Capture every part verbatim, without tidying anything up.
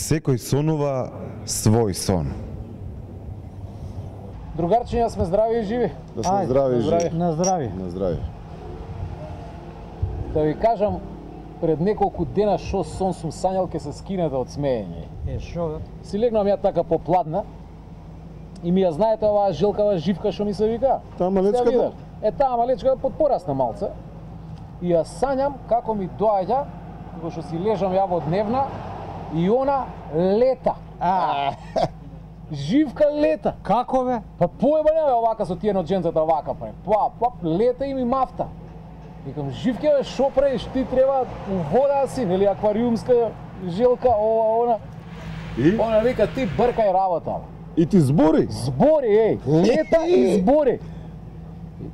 Секој сонува свој сон. Другарчиња, сме здрави и живи. Да сме здрави и живи. На здрави. На здрави. Да ви кажам, пред неколку дена шо сон сум сањал ке се скинете од смеење. Е, шо бе? Си легнам ја така попладна и ми ја знаете оваа жилкава живка што ми се вика? Таа малечката? Е, таа малечка подпорасна малце. И ја сањам како ми доаѓа, кога што си лежам ја во дневна, и она лета. А, Живка лета. како бе? Па поеба не бе овака со тие ноџенцата овака прави. Па, па, лета и ми мафта. Викам, Живке бе, шо правиш? Ти треба у вода си, нели аквариумска жилка, ова, она. И? Она вика, ти бркај работа. И ти збори? Збори, еј, лета и збори.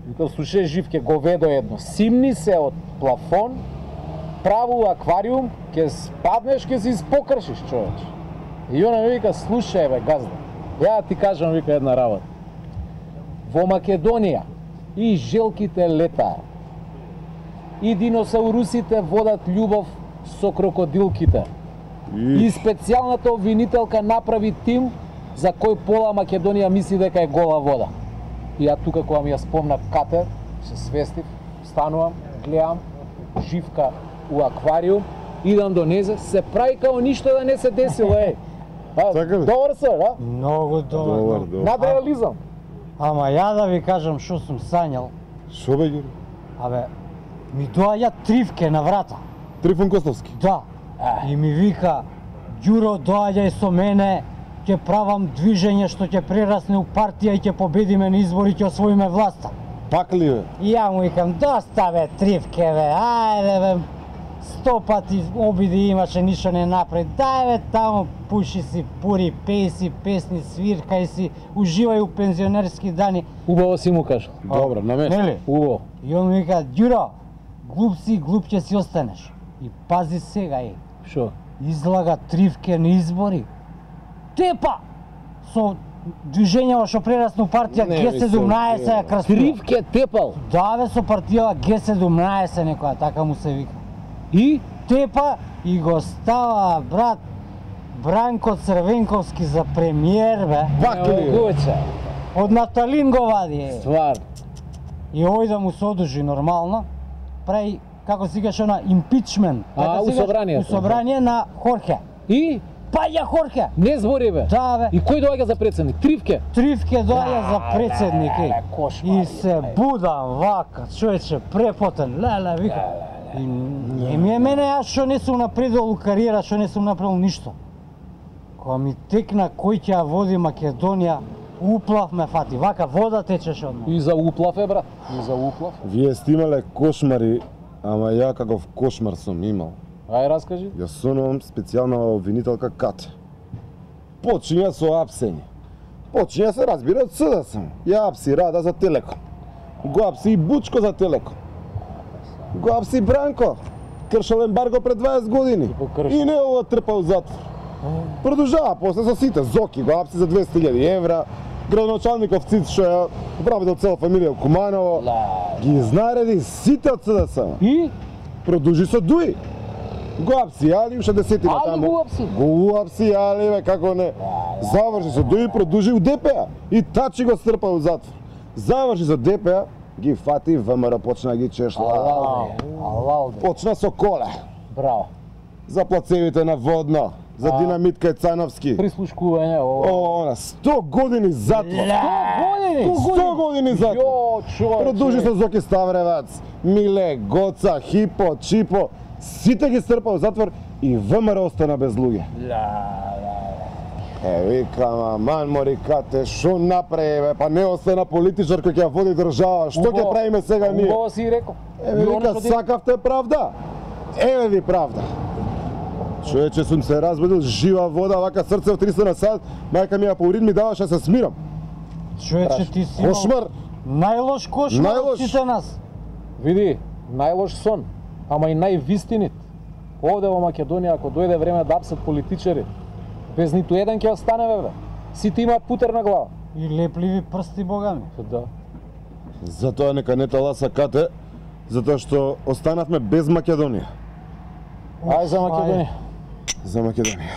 Викам, слушај, Живке, го ведо едно. Симни се од плафон, праву аквариум, ќе спаднеш, ќе се испокршиш, човече. И она ми вика, слушај бе, газда, ја ти кажам, вика, една работа. Во Македонија и желките летаат, и диносаурусите водат љубов со крокодилките. И, и специјалната обвинителка направи тим за кој пола Македонија мисли дека е гола вода. И ја тука кога ми ја спомна Кате, се свестив, станувам, гледам, Живка у аквариум, идам до незе, се прави као ништо да не се десило, еј. А, Така ли? добар се, да? Многу добар. Добар, многу. добар. Надреализам. Ама ја да ви кажам што сум сањал, Шо бе, Ѓури? абе, ми доаѓа Тривке на врата. Трифон Костовски. Да. И ми вика, Ѓуро, доаѓај со мене, ќе правам движење што ќе прерасне у партија и ќе победиме на избори, ќе освоиме власта. Пак ли бе? И ја му викам, доста бе, Тривке бе, ајде бе, сто пати обиди имаше, ништо не направи. Дај бе таму, пуши си, пури, пеј си песни, свиркај си, уживај у пензионерски дани. Убаво си му кажа. Добро, на место. Нели? Убаво. И он ми вика, Ѓуро, глуп си, глуп ќе си останеш. И пази сега, е, Шо? излага Тривке на избори. Тепа! Со движењето што прерасна у партија Не Ге ми се седумнаесет ја вера. крстува. Тривке тепал. Да бе, со партија Ге седумнаесет некоја, така му се вика. И? Тепа и го става, брат, Бранко Црвенковски за премиер, бе. Пак ли бе? Могуче. Од Наталин го вади, е. Ствар. И овој да му се одужи нормално, прави, како си кажеш, она, импичмент. А, Како у си кажеш, собранието. У собрание на Хорхе. И? Паѓа Хорхе! Не збори бе. Да, бе. И кој доаѓа за председник? Тривке. Тривке доаѓа за председник, е. леле, кошмар, И се будам вака, човече, препотен, леле, вика. И не ми е мене, јас што не сум напредувал у кариера, што не сум направил ништо. Кога ми текна кој ќе ја води Македонија, уплав ме фати, вака вода течеше од мене. И за уплав е, брат. И за уплав. Вие сте имале кошмари, ама ја каков кошмар сум имал. Ај, раскажи. Ја сонувам специјална обвинителка Кате. Почиња со апсење. Почиња се разбира од С Д С. Ја апси Рада за Телеком. Го апси и Бучко за Телеком. Го апси Бранко. Кршал ембарго пред дваесет години. го крши. И не ово трпа у затвор. Продолжава после со сите. Зоки го апси за двесте илјади евра. Градоначалников Циц што ја управител цела фамилија Куманово. Ги знареди сите од С Д С. И? Продолжи со Дуи. Го апси Али, уште десетина Али таму. го апси? Го апси Али, бе, како не. Заврши со Дуи, продолжи у Д П А. И Тачи го стрпа у затвор. Заврши со Д П А, ги фати, В М Р почна да ги чешла. Алалде. Алалде. Почна со коле. Браво. За плацевите на Водно, за А. Динамит Кајцановски. Прислушкување, ово. О, она, сто години затвор. Години! сто години затвор. Јо, човече. Продолжи со Зоки Ставревац, Миле, Гоца, Хипо, Чипо, сите ги стрпа у затвор и В М Р остана без луѓе. Е, викам, аман мори Кате, шо направи бе, па не остана политичар кој ќе ја води држава, што ќе правиме сега ние? Убаво си рекол. Еве И оно вика, што ти- сакавте правда? Еве ви правда. Човече, сум се разбудил, жива вода, вака срце од триста на сат, мајка ми ја по урин ми даваше да се смирам. Човече, ти си имал Кошмар, најлош кошмар од Најлош. сите нас. Види, најлош сон, ама и највистинит. Овде во Македонија, ако дојде време да апсат политичари, без ниту еден ќе остане, бе, бе. Сите имаат путер на глава. И лепливи прсти, бога ми. Да. затоа нека не таласа Кате, затоа што останавме без Македонија. Ај за Македонија. За Македонија.